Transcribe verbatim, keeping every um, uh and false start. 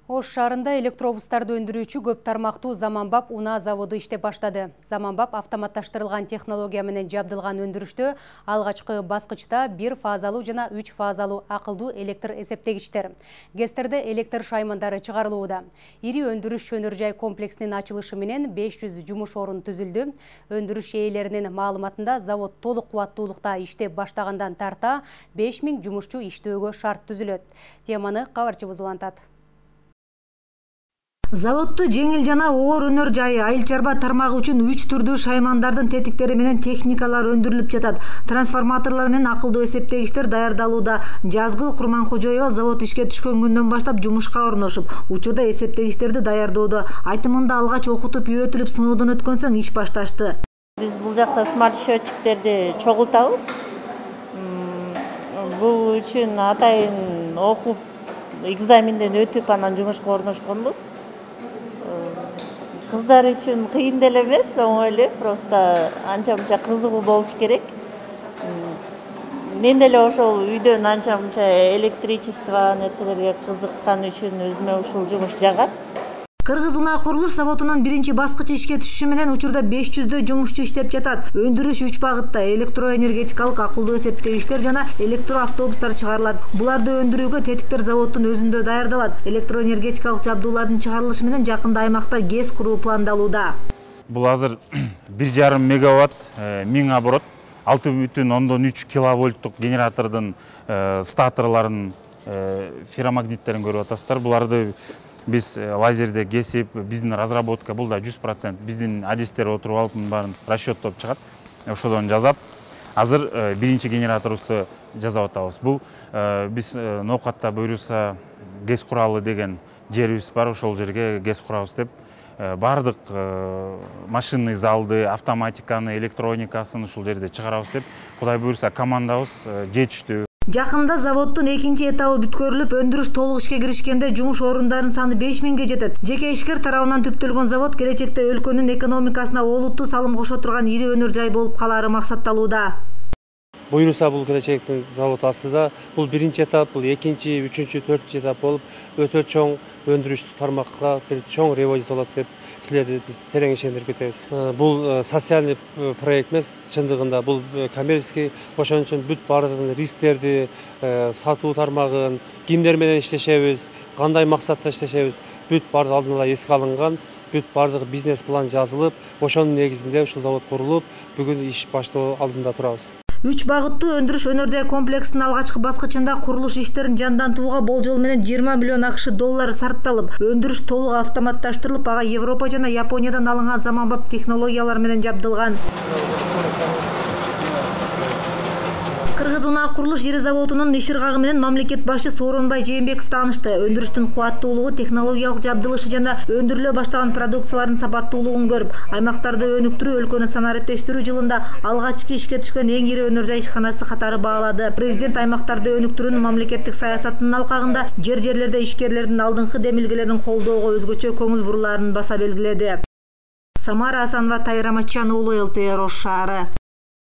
Ош шаарында электробустарды өндүрүүчү көп тармактуу Заманбап унаа заводу иштеп баштады. Заманбап автоматташтырылган технология менен жабдылган өндүрүштө алгачкы баскычта бир фазалуу жана үч фазалуу акылдуу электр эсептегичтер. ГЭСтерде электр шаймандары чыгарылууда. Ири өндүрүш өнөр жай комплексинин ачылышы менен беш жүз жумуш орун түзүлдү. Өндүрүш ээлеринин маалыматында завод толук кубаттуулукта иштеп баштагандан тарта беш миң жумушчу иштөөгө шарт түзүлөт. Теманы кабарчыбыз улантат. Заводду жеңил жана оор өнөр жайы айыл чарба тармагы үчүн үч түрдүү шаймандардын тетиктери менен техникалар өндүрүлүп жатат. Трансформаторлор менен акылдуу эсептегичтер даярдалууда. Жазгыл Курманкожоева завод ишке түшкөн күндөн баштап жумушка орношуп, учурда эсептегичтерди даярдоодо. Айтымында алгач окутуп, үйрөтүлүп, сыноодон өткөн соң иш башташты. Биз бул жакта смарт счетчиктерди чогултабыз. Бул үчүн атайын окуп, экзаменден өтүп, анан жумушка орношконбуз. Кыздар үчүн кыйын деле эмес, оңой эле, просто анча-мынча кызыгуу болуш керек. Мен деле ошол үйдөн анча-мынча электричество нерселерге кызыккан үчүн өзүмө ушул жумуш жагат. Кыргыз унаа курулуш заводунун биринчи баскычы ишке түшүшү менен учурда беш жүздөй жумушчу иштеп жатат. Өндүрүш үч багытта: электроэнергетикалык акылдуу эсептегичтер жана электроавтобустар чыгарылат. Буларды өндүрүүгө тетиктер заводдун өзүндө даярдалат. Электроэнергетикалык жабдуулардын чыгарылышы менен жакында аймакта ГЭС куруу пландалууда. Бул азыр бир жарым мегаватт, миң оборот, алты бүтүн ондон үч киловольттук генератордун статорларын, ферромагниттерин көрүп атасыздар. Буларды биз лазерде кесип, биздин разработка, бул да жүз процент биздин адистер отуруп алып, баарын расчеттоп чыгат, ошодон жазат. Азыр биринчи генераторубузду жасап атабыз. Бул биз ноокатта буюрса ГЭС куралы деген жерибиз бар, ошол жерге ГЭС курабыз деп баардык машинный залды, автоматиканы, электроникасын ушул жерде чыгарабыз деп, Кудай буюрса командабыз жетиштүү. Жакында заводдун экинчи этабы бүткөрүлүп, өндүрүш толук ишке киришкенде жумуш орундарынын саны беш миңге жетет. Жеке ишкер тарабынан түптөлгөн завод келечекте өлкөнүн экономикасына олуттуу салым кошо турган ири өнөр жай болуп калаары максатталууда. Буюрса бул келечектин завод астында бул биринчи этап, бул экинчи, үчүнчү, төртүнчү этап болуп, өтө чоң өндүрүштүк тармакка бир чоң революция болот деп силерди биз терең ишендирип кетебиз. Бул социальный проект эмес, чындыгында бул коммерческий, ошон үчүн бүт баардык рисктерди, сатуу тармагын, кимдер менен иштешебиз, кандай максатта иштешебиз, бүт баардык алдын ала эске алынган, бүт баардык бизнес план жазылып, ошонун негизинде ушул завод курулуп, бүгүн иш баштоо алдында турабыз. Үч багыттуу өндүрүш өнөр жай комплексинин алгачкы баскычында курулуш иштерин жандантууга болжол менен жыйырма миллион акш доллары сарпталып, өндүрүш толук автоматташтырылып, ага Европа жана Япониядан алынган заманбап технологиялар менен жабдылган. Кыргыз унаа курулуш ири заводунун иш ыргагы менен мамлекет башчы Сооронбай Жээнбеков таанышты. Өндүрүштүн кубаттуулугу, технологиялык жабдылышы жана өндүрүлө баштаган продукциялардын сапаттуулугун көрүп, аймактарды өнүктүрүү, өлкөнү санариптештирүү жылында алгачкы ишке түшкөн эң ири өнөр жай ишканасы катары баалады. Президент аймактарды өнүктүрүүнүн мамлекеттик саясатынын алкагында жер-жерлерде ишкерлердин алдыңкы демилгелерин колдоого өзгөчө көңүл бурулаарын баса белгиледи. Самара Асанова, Тайыр Аматжан уулу, эл тэ эр Ош шаары.